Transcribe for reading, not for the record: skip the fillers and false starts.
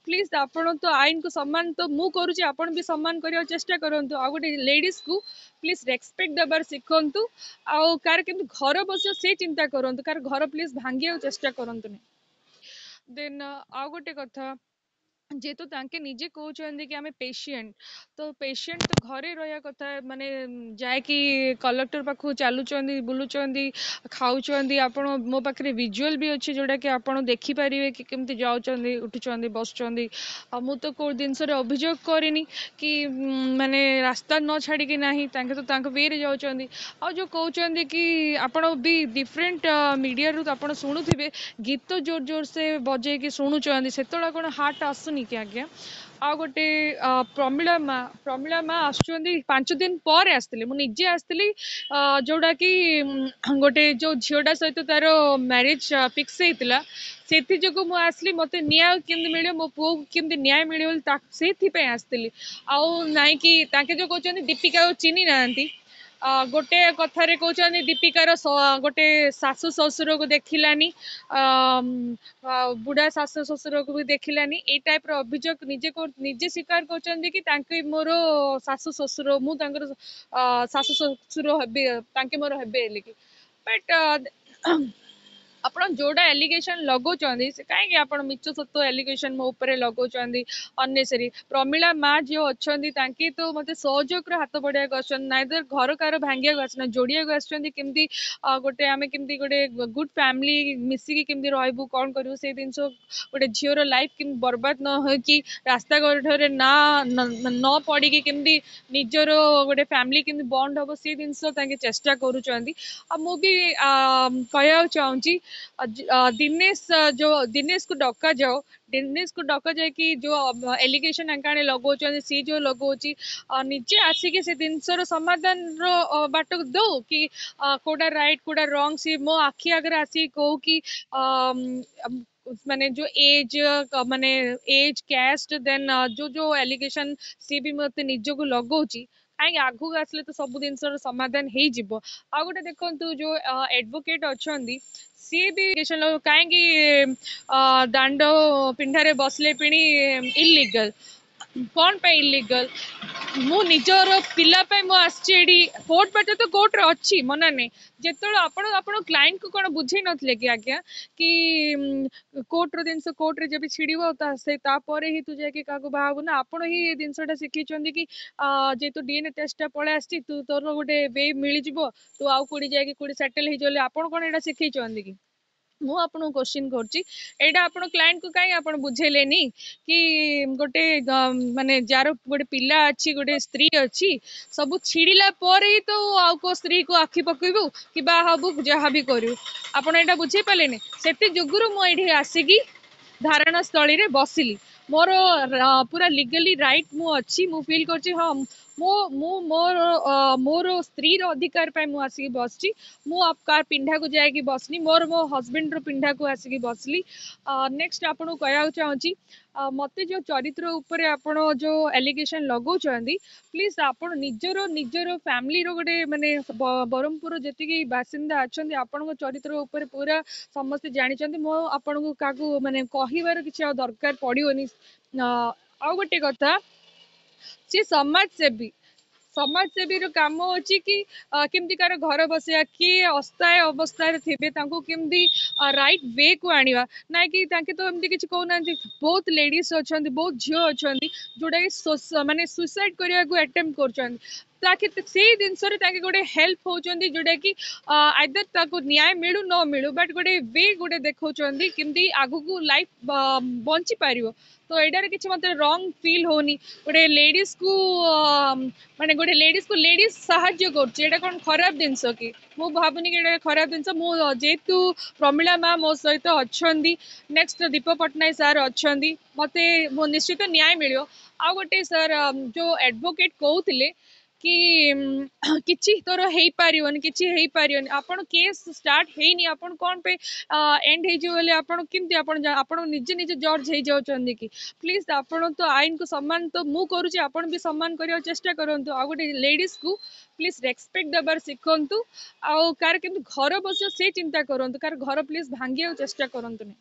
Please, ଆପଣ ତ ଆଇନକୁ ସମ୍ମାନ ତ ମୁଁ କରୁଛି, ଆପଣ ବି ସମ୍ମାନ କରିବାକୁ ଚେଷ୍ଟା କରନ୍ତୁ। ଆଉ ଗୋଟେ ଲେଡ଼ିଜ୍କୁ ପ୍ଲିଜ୍ ରେସପେକ୍ଟ ଦେବାର ଶିଖନ୍ତୁ, ଆଉ କାହାର କେମିତି ଘର ବସିବ ସେ ଚିନ୍ତା କରନ୍ତୁ, କାହାର ଘର ପ୍ଲିଜ୍ ଭାଙ୍ଗିବାକୁ ଚେଷ୍ଟା କରନ୍ତୁନି। ଦେନ୍ ଆଉ ଗୋଟେ କଥା, ଯେହେତୁ ତାଙ୍କେ ନିଜେ କହୁଛନ୍ତି କି ଆମେ ପେସେଣ୍ଟ, ତ ପେସେଣ୍ଟ ତ ଘରେ ରହିବା କଥା, ମାନେ ଯାଇକି କଲେକ୍ଟର ପାଖକୁ ଚାଲୁଛନ୍ତି, ବୁଲୁଛନ୍ତି, ଖାଉଛନ୍ତି। ଆପଣ ମୋ ପାଖରେ ଭିଜୁଆଲ୍ ବି ଅଛି, ଯେଉଁଟାକି ଆପଣ ଦେଖିପାରିବେ କି କେମିତି ଯାଉଛନ୍ତି, ଉଠୁଛନ୍ତି, ବସୁଛନ୍ତି। ଆଉ ମୁଁ ତ କେଉଁ ଜିନିଷରେ ଅଭିଯୋଗ କରିନି କି ମାନେ ରାସ୍ତା ନ ଛାଡ଼ିକି ନାହିଁ, ତାଙ୍କେ ତ ତାଙ୍କ ୱେରେ ଯାଉଛନ୍ତି। ଆଉ ଯେଉଁ କହୁଛନ୍ତି କି ଆପଣ ବି ଡିଫରେଣ୍ଟ ମିଡ଼ିଆରୁ ଆପଣ ଶୁଣୁଥିବେ, ଗୀତ ଜୋର ଜୋର ସେ ବଜେଇକି ଶୁଣୁଛନ୍ତି, ସେତେବେଳେ କ'ଣ ହାର୍ଟ ଆସୁନି କି ଆଜ୍ଞା? ଆଉ ଗୋଟେ ପ୍ରମିଳା ମା, ପ୍ରମିଳା ମା ଆସୁଛନ୍ତି, 5 ଦିନ ପରେ ଆସିଥିଲେ, ମୁଁ ନିଜେ ଆସିଥିଲି। ଯେଉଁଟାକି ଗୋଟେ ଯେଉଁ ଝିଅଟା ସହିତ ତାର ମ୍ୟାରେଜ୍ ଫିକ୍ସ ହେଇଥିଲା, ସେଥିଯୋଗୁଁ ମୁଁ ଆସିଲି। ମୋତେ ନ୍ୟାୟ କେମିତି ମିଳିବ, ମୋ ପୁଅକୁ କେମିତି ନ୍ୟାୟ ମିଳିବ ବୋଲି ସେଇଥିପାଇଁ ଆସିଥିଲି। ଆଉ ନାଇଁ କି ତାଙ୍କେ ଯେଉଁ କହୁଛନ୍ତି ଦୀପିକାକୁ ଚିହ୍ନି ନାହାନ୍ତି, ଗୋଟେ କଥାରେ କହୁଛନ୍ତି ଦୀପିକାର ଗୋଟେ ଶାଶୁ ଶ୍ୱଶୁରକୁ ଦେଖିଲାନି, ବୁଢ଼ା ଶାଶୁ ଶ୍ୱଶୁରକୁ ବି ଦେଖିଲାନି, ଏଇ ଟାଇପ୍ର ଅଭିଯୋଗ ନିଜେ ନିଜେ ସ୍ୱୀକାର କରୁଛନ୍ତି କି ତାଙ୍କେ ମୋର ଶାଶୁ ଶ୍ୱଶୁର, ମୁଁ ତାଙ୍କର ଶାଶୁ ଶ୍ୱଶୁର ହେବି, ତାଙ୍କେ ମୋର ହେବେ ବୋଲିକି। ବଟ୍ ଆପଣ ଯେଉଁଟା ଏଲିଗେସନ୍ ଲଗାଉଛନ୍ତି, ସେ କାହିଁକି ଆପଣ ମିଛ ସତ ଏଲିଗେସନ୍ ମୋ ଉପରେ ଲଗାଉଛନ୍ତି ଅନ୍ନେସେରୀ? ପ୍ରମିଳା ମା ଯିଏ ଅଛନ୍ତି, ତାଙ୍କେ ତ ମୋତେ ସହଯୋଗର ହାତ ବଢ଼ିବାକୁ ଆସୁଛନ୍ତି, ନାଇଁ ତ ଘର କାହାର ଭାଙ୍ଗିବାକୁ ଆସୁନାହାନ୍ତି, ଯୋଡ଼ିବାକୁ ଆସୁଛନ୍ତି। କେମିତି ଗୋଟେ ଆମେ କେମିତି ଗୋଟେ ଗୁଡ୍ ଫ୍ୟାମିଲି ମିଶିକି କେମିତି ରହିବୁ, କ'ଣ କରିବୁ ସେଇ ଜିନିଷ, ଗୋଟେ ଝିଅର ଲାଇଫ୍ କେମିତି ବର୍ବାଦ ନ ହୋଇକି ରାସ୍ତା ଘାଟରେ ନା ନ ପଡ଼ିକି କେମିତି ନିଜର ଗୋଟେ ଫ୍ୟାମିଲି କେମିତି ବଣ୍ଡ ହେବ, ସେ ଜିନିଷ ତାଙ୍କେ ଚେଷ୍ଟା କରୁଛନ୍ତି। ଆଉ ମୁଁ ବି କହିବାକୁ ଚାହୁଁଛି, ଦିନେଶ ଯେଉଁ, ଦିନେଶକୁ ଡକାଯାଉ, ଦିନେଶକୁ ଡକାଯାଇକି ଯେଉଁ ଏଲିଗେସନ୍ ଆଙ୍କା ଆଣି ଲଗାଉଛନ୍ତି, ସିଏ ଯେଉଁ ଲଗାଉଛି, ନିଜେ ଆସିକି ସେ ଜିନିଷର ସମାଧାନର ବାଟ ଦଉ କି କୋଉଟା ରାଇଟ୍ କୋଉଟା ରଙ୍ଗ। ସିଏ ମୋ ଆଖି ଆଗରେ ଆସିକି କହୁ କି ମାନେ ଯେଉଁ ଏଜ୍, ମାନେ ଏଜ୍, କ୍ୟାଷ୍ଟ, ଦେନ୍ ଯେଉଁ ଯେଉଁ ଏଲିଗେସନ୍ ସିଏ ବି ମୋତେ ନିଜକୁ ଲଗାଉଛି, କାହିଁକି ଆଗକୁ ଆସିଲେ ତ ସବୁ ଜିନିଷର ସମାଧାନ ହେଇଯିବ। ଆଉ ଗୋଟେ ଦେଖନ୍ତୁ, ଯେଉଁ ଆଡ଼ଭୋକେଟ୍ ଅଛନ୍ତି, ସିଏ ବି କାହିଁକି ଦାଣ୍ଡ ପିଣ୍ଡାରେ ବସିଲେ ପିଣି ଇଲିଗାଲ? କ'ଣ ପାଇଁ ଇଲିଗାଲ? ମୁଁ ନିଜର ପିଲା ପାଇଁ ମୁଁ ଆସିଛି ଏଠି। କୋର୍ଟ ବାଟ ତ କୋର୍ଟରେ ଅଛି, ମନା ନାହିଁ। ଯେତେବେଳେ ଆପଣ ଆପଣ କ୍ଲାଏଣ୍ଟକୁ କ'ଣ ବୁଝେଇ ନଥିଲେ କି ଆଜ୍ଞା କି କୋର୍ଟର ଜିନିଷ କୋର୍ଟରେ ଯେବେ ଛିଡ଼ିବ, ତା ସେ ତାପରେ ହିଁ ତୁ ଯାଇକି କାହାକୁ ବାହା ହବୁ ନା? ଆପଣ ହିଁ ଏ ଜିନିଷଟା ଶିଖେଇଛନ୍ତି କି ଯେହେତୁ ଡିଏନ୍ଏ ଟେଷ୍ଟଟା ପଳେଇ ଆସିଛି, ତୁ ତୋର ଗୋଟେ we ମିଳିଯିବ, ତୁ ଆଉ କୋଉଠି ଯାଇକି କୋଉଠି ସେଟେଲ୍ ହେଇଯିବ। ଆପଣ କ'ଣ ଏଇଟା ଶିଖେଇଛନ୍ତି କି? ମୁଁ ଆପଣଙ୍କୁ କୋଶ୍ଚିନ୍ କରୁଛି, ଏଇଟା ଆପଣ କ୍ଲାଏଣ୍ଟକୁ କାହିଁ ଆପଣ ବୁଝେଇଲେନି କି ଗୋଟେ ମାନେ ଯାହାର ଗୋଟେ ପିଲା ଅଛି, ଗୋଟେ ସ୍ତ୍ରୀ ଅଛି, ସବୁ ଛିଡ଼ିଲା ପରେ ହିଁ ତ ଆଉ କୋଉ ସ୍ତ୍ରୀକୁ ଆଖି ପକେଇବୁ କି ବାହା ହବୁ, ଯାହା ବି କରିବୁ? ଆପଣ ଏଇଟା ବୁଝେଇ ପାରିଲେନି। ସେଥି ଯୋଗୁରୁ ମୁଁ ଏଇଠି ଆସିକି ଧାରଣା ସ୍ଥଳୀରେ ବସିଲି। ମୋର ପୁରା ଲିଗାଲି ରାଇଟ୍ ମୁଁ ଅଛି, ମୁଁ ଫିଲ୍ କରୁଛି। ହଁ, ମୁଁ ମୋର ସ୍ତ୍ରୀର ଅଧିକାର ପାଇଁ ମୁଁ ଆସିକି ବସିଛି। ମୁଁ କାହା ପିଣ୍ଡାକୁ ଯାଇକି ବସିନି, ମୋର ମୋ ହଜବେଣ୍ଡର ପିଣ୍ଡାକୁ ଆସିକି ବସିଲି। ନେକ୍ସଟ ଆପଣଙ୍କୁ କହିବାକୁ ଚାହୁଁଛି, ମୋତେ ଯେଉଁ ଚରିତ୍ର ଉପରେ ଆପଣ ଯେଉଁ ଏଲିଗେସନ୍ ଲଗାଉଛନ୍ତି, ପ୍ଲିଜ୍ ଆପଣ ନିଜର ଫ୍ୟାମିଲିର ଗୋଟେ ମାନେ ବ୍ରହ୍ମପୁର ଯେତିକି ବାସିନ୍ଦା ଅଛନ୍ତି, ଆପଣଙ୍କ ଚରିତ୍ର ଉପରେ ପୁରା ସମସ୍ତେ ଜାଣିଛନ୍ତି। ମୁଁ ଆପଣଙ୍କୁ କାହାକୁ ମାନେ କହିବାର କିଛି ଆଉ ଦରକାର ପଡ଼ିବନି। ଆଉ ଗୋଟେ କଥା, ସିଏ ସମାଜସେବୀ, ସମାଜସେବୀର କାମ ଅଛି କି କେମିତି କାହାର ଘର ବସେଇବା, କିଏ ଅସହାୟ ଅବସ୍ଥାରେ ଥିବେ ତାଙ୍କୁ କେମିତି ରାଇଟ୍ ୱେକୁ ଆଣିବା। ନାଇଁ କି ତାଙ୍କେ ତ ଏମିତି କିଛି କହୁନାହାନ୍ତି। ବହୁତ ଲେଡ଼ିଜ୍ ଅଛନ୍ତି, ବହୁତ ଝିଅ ଅଛନ୍ତି, ଯେଉଁଟାକି ମାନେ ସୁଇସାଇଡ୍ କରିବାକୁ ଆଟେମ୍ପ୍ଟ କରୁଛନ୍ତି, ତାକେ ସେଇ ଜିନିଷରେ ତାଙ୍କେ ଗୋଟେ ହେଲ୍ପ ହେଉଛନ୍ତି, ଯେଉଁଟାକି ଆଇଦର ତାକୁ ନ୍ୟାୟ ମିଳୁ ନ ମିଳୁ, ବଟ୍ ଗୋଟେ we ଗୋଟେ ଦେଖାଉଛନ୍ତି କେମିତି ଆଗକୁ ଲାଇଫ୍ ବଞ୍ଚିପାରିବ। ତ ଏଇଟାରେ କିଛି ମୋତେ ରଙ୍ଗ ଫିଲ୍ ହେଉନି। ଗୋଟେ ଲେଡ଼ିଜ୍କୁ, ମାନେ ଗୋଟେ ଲେଡ଼ିଜ୍କୁ ଲେଡ଼ିଜ୍ ସାହାଯ୍ୟ କରୁଛି, ଏଇଟା କ'ଣ ଖରାପ ଜିନିଷ କି? ମୁଁ ଭାବୁନି କି ଏଇଟା ଖରାପ ଜିନିଷ। ମୁଁ ଯେହେତୁ ପ୍ରମିଳା ମା ମୋ ସହିତ ଅଛନ୍ତି, ନେକ୍ସଟ ଦୀପ ପଟ୍ଟନାୟକ ସାର୍ ଅଛନ୍ତି, ମୋତେ ମୋ ନିଶ୍ଚିତ ନ୍ୟାୟ ମିଳିବ। ଆଉ ଗୋଟେ ସାର୍, ଯେଉଁ ଆଡ଼ଭୋକେଟ୍ କହୁଥିଲେ କି କିଛି ତୋର ହେଇପାରିବନି, କିଛି ହେଇପାରିବନି, ଆପଣ କେସ୍ ଷ୍ଟାର୍ଟ ହେଇନି, ଆପଣ କ'ଣ ପାଇଁ ଏଣ୍ଡ ହେଇଯିବ ବୋଲି ଆପଣ କେମିତି ଆପଣ ନିଜେ ନିଜେ ଜଜ୍ ହେଇଯାଉଛନ୍ତି କି? ପ୍ଲିଜ୍, ଆପଣ ତ ଆଇନକୁ ସମ୍ମାନ ତ ମୁଁ କରୁଛି, ଆପଣ ବି ସମ୍ମାନ କରିବାକୁ ଚେଷ୍ଟା କରନ୍ତୁ। ଆଉ ଗୋଟେ ଲେଡ଼ିଜ୍କୁ ପ୍ଲିଜ୍ ରେସପେକ୍ଟ ଦେବାର ଶିଖନ୍ତୁ, ଆଉ କାହାର କେମିତି ଘର ବସିବ ସେ ଚିନ୍ତା କରନ୍ତୁ, କାହାର ଘର ପ୍ଲିଜ୍ ଭାଙ୍ଗିବାକୁ ଚେଷ୍ଟା କରନ୍ତୁନି।